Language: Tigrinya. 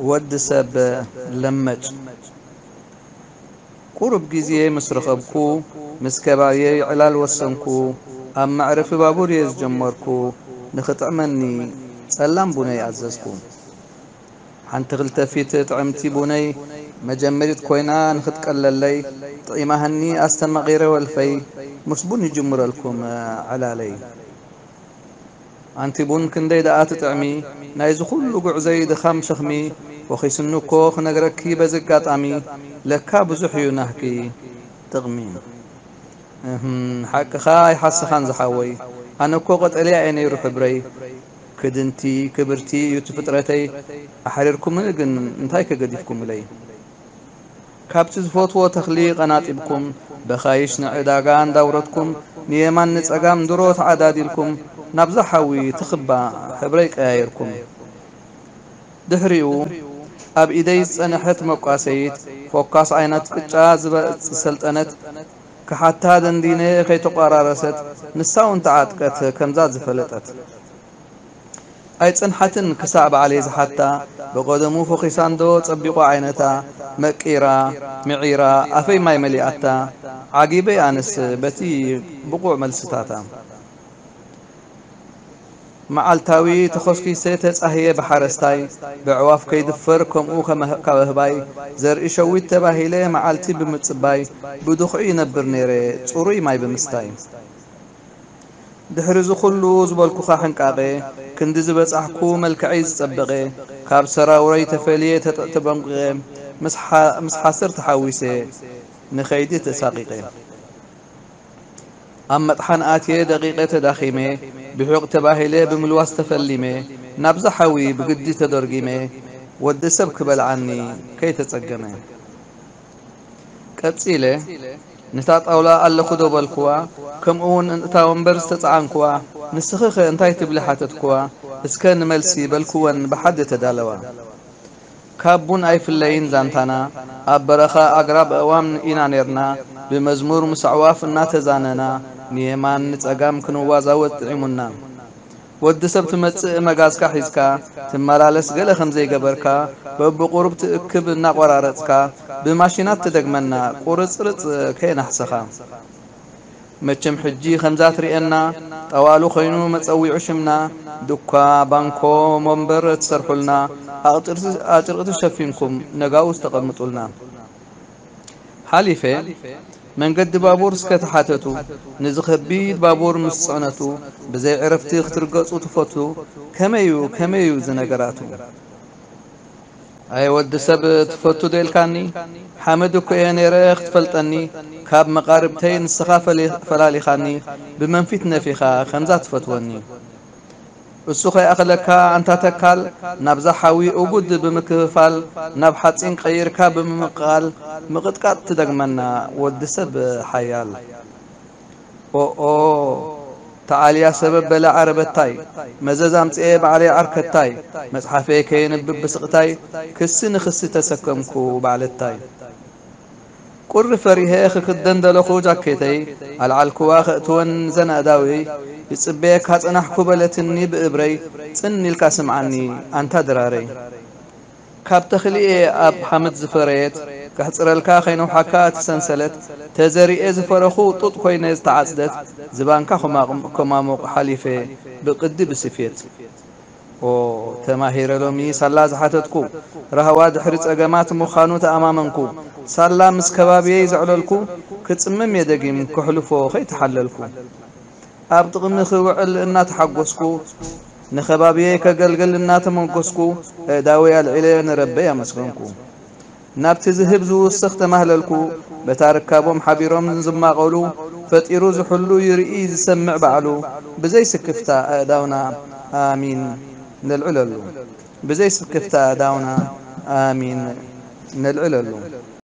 ወዲ ሰብ ለመጭ። ቁሩብ ግዜ ምስ ረኸብኩ፣ ምስ ከባብየይ ዕላል ወሰንኩ። ኣብ መዕረፊ ባቡር እየ ዝጀመርኩ። ንኽጥዕመኒ ጸላም ቡነይ ኣዘዝኩ። ሓንቲ ክልተ ፊት ጥዕምቲ ቡነይ መጀመሪት ኮይና ንኽትቀለለይ፣ ጥዒማህኒ ኣስተማቒረ ወልፈይ። ምስ ቡን ይጅምረልኩም ዕላለይ። ኣንቲ ቡን ክንደይ ደኣ ትጥዕሚ፣ ናይዚ ኩሉ ጉዕዘይ ድኻም ሸኽሚ፣ ወኺስኒ እኮ ክነግረኪ በዚ ኣጋጣሚ፣ ለካ ብዙሕ እዩ ናህኪ ጥቕሚ። እህም፣ ሓቅኻ ኣይሓስኻን ዝሓወይ፣ ኣነ እኮ ቀጠልያ እየ ነይሩ ሕብረይ፣ ክድንቲ ክብርቲ እዩ እቲ ፍጥረተይ፣ ኣሕሪርኩምኒ ግን እንታይ ከገዲፍኩምለይ? ካብቲ ዝፈትዎ ተኽሊ ቀናጢብኩም፣ በኻይሽ ንዕዳጋ እንዳውረድኩም፣ ንየማን ንጸጋም ድሮ ተዓዳዲልኩም፣ ናብዛ ሓዊ ትኽባ ሕብረይ ቀያይርኩም። ድሕሪኡ፣ ኣብ ኢደይ ዝጸንሐት መቋሰይት፣ ፎካስ ዓይነት ቅጫ ዝበጽ ሰልጠነት፣ ክሓታ ደንዲነ ከይተቋራረሰት፣ ንሳ እውን ተዓጥቀት ከምዛ ዝፈለጠት። ኣይጸንሓትን ክሳዕ ባዕለይ ዝሓታ፣ ብቐደሙ ፈኺሳ እንዶ ጸቢቑ ዓይነታ፣ መቂራ፣ ምዒራ፣ ኣፈይ ማይ መሊኣታ፣ ዓጊበይ ኣነስ በቲ ብቑዕ መልስታታ። መዓልታዊ ተኾስኪሰ ተጻህየ ብሓረስታይ፣ ብዕዋፍ ከይድፈር ከምኡ ከመህ-፣ ካብ ኣህባይ፣ ዘርኢ ሸዊት ተባሂለ መዓልቲ ብምጽባይ፣ ብድኹዒ ይነብር ነይረ ጽሩይ ማይ ብምስታይ። ድሕሪ እዚ ኩሉ ዝበልኩኻ ሕንቃቐ፣ ክንዲ ዝበጻሕኩ መልክዐይ ዝጸበቐ፣ ካብ ሰራውረይ ተፈልየ ተጠ-፣ ተበንቂቐ፣ ምስ ሓ-፣ ምስ ሓሰር ተሓዊሰ ንኸይዲ ተሳቒቐ። ኣብ መጥሓን ኣትየ ደቂቐ ተዳኺመ፣ ብሑቕ ተባሂለ ብምልዋስ ተፈሊመ፣ ናብዛ ሓዊ ብግዲ ተደርጊመ፣ ወዲ ሰብ ክበልዓኒ ከይተጸገመ። ቀጺለ፣ ነታ ጣውላ ኣለኹ ዶ በልኩዋ፣ ከምኡውን እታ ወንበር ዝተጻዓንኩዋ፣ ንስኺኸ እንታይ ትብሊ ሓተትኩዋ፣ እስከ ንመልሲ በልኩወን ብሓደ ተዳለዋ። ካብ ቡን ኣይፍለይን ዛንታና፣ ኣብ በረኻ ኣግራብ ኣእዋም ኢና ኔርና፣ ብመዝሙር ምስ ኣዕዋፍ እናተዛነና፣ ንየማን ንጸጋም ክንዋዛወዝ ጥዒሙና። ወዲ ሰብ ትመጽእ መጋዝካ ሒዝካ፣ ትመላለስ ገለ ከም ዘይገበርካ፣ በብቑሩብ ትእክብ እናቖራረጽካ፣ ብማሽናት ትደግመና፣ ቁርጽርጽ ከየናሕሰኻ። መቸም ሕጂ ከምዛ ትርእየና፣ ጠዋሉ ኮይኑ መጸዊዑ ሽምና፣ ዱኳ፣ ባንኮ፣ መንበር ትሰርሑልና፣ ኣቕጥርቲ-፣ ኣጭርቕቲ ሸፊንኩም ነጋውስ ተቐምጡልና። ሓሊፈ፣ መንገዲ ባቡር እስከ ተሓተቱ፣ ነዚ ከቢድ ባቡር ምስ ጽዕነቱ፣ ብዘይ ዕረፍቲ ክትርገጹ ትፈቱ፣ ከመዩ፣ ከመዩ እዚ ነገራቱ? ኣየ ወዲ ሰብ ትፈቱ ዶ ኢልካኒ? ሓመድ እኮ እየ ነይረ ክትፈልጠኒ፣ ካብ መቓርብተይ ንስኻ ፈሊ-፣ ፈላሊኻኒ፣ ብመንፊት ነፊኻ ከምዛ ትፈትወኒ። እሱ ከይኣኽለካ ኣንታ ተካል፣ ናብዛ ሓዊ እጉድ ብምክፍፋል፣ ናብ ሓጺን ቀይርካ ብምምቕቓል፣ ምቕጥቃጥ ትደግመና ወዲ ሰብ ሓያል። ኦኦ፣ ተዓልያ ሰበብ በለ ዓረበታይ፣ መዘዝ ኣምጽኤ ባዕለይ ዓርከታይ፣ መጽሓፈይ ከየንብብ ብስቕታይ፣ ክሲ ንኽሲ ተሰከምኩ ባዕለታይ። ቁሪ ፈሪሀ ክክደን ደለኹ ጃኬተይ፣ ኣልዓልክዋ ከእትወን ዘን ኣእዳወይ፣ ይጽበየካ ጸናሕኩ በለትኒ ብእብረይ፣ ጽን ኢልካ ስምዓኒ ኣንታ ድራረይ። ካብ ተኽሊ እየ ኣብ ሓመድ ዝፈረየት፣ ከሕጽረልካ ከይነውሓካ እቲ ሰንሰለት፣ ተዘሪኤ ዝፈረኹ ጡጥ ኮይነ ዝተዓጽደት፣ ዝባንካ ኮማቕ-፣ ኮማሙቕ ሓሊፈ ብቅዲ ብስፌት። ኦ፣ ተማሂረ ሎሚ ሳላ ዝሓተትኩ፣ ራህዋ ድሕሪ ጸገማት ምዃኑ ተኣማመንኩ። ሳላ ምስ ከባብየይ ዘዕለልኩ፣ ክጽምም እየ ደጊም ከሕልፎ ከይተሓለልኩ። ኣብ ጥቕሚ ክውዕል እናተሓጎስኩ፣ ንኸባብየይ ከገልግል እናተመጎስኩ፣ ኣእዳወይ ኣልዒለ ንረበይ ኣመስገንኩ። ናብቲ ዝህብ ዝውስኽ ተማህለልኩ፣ በታ ርካቦም ሓቢሮም ዝማቐሉ፣ ፈጢሩ ዝሕሉ ይርኢ ዝሰምዕ ባዕሉ፣ ብዘይ ስክፍታ ኣእዳውና ኣሚን ነልዕለሉ። ብዘይ ስክፍታ ኣእዳውና ኣሚን ነልዕለሉ።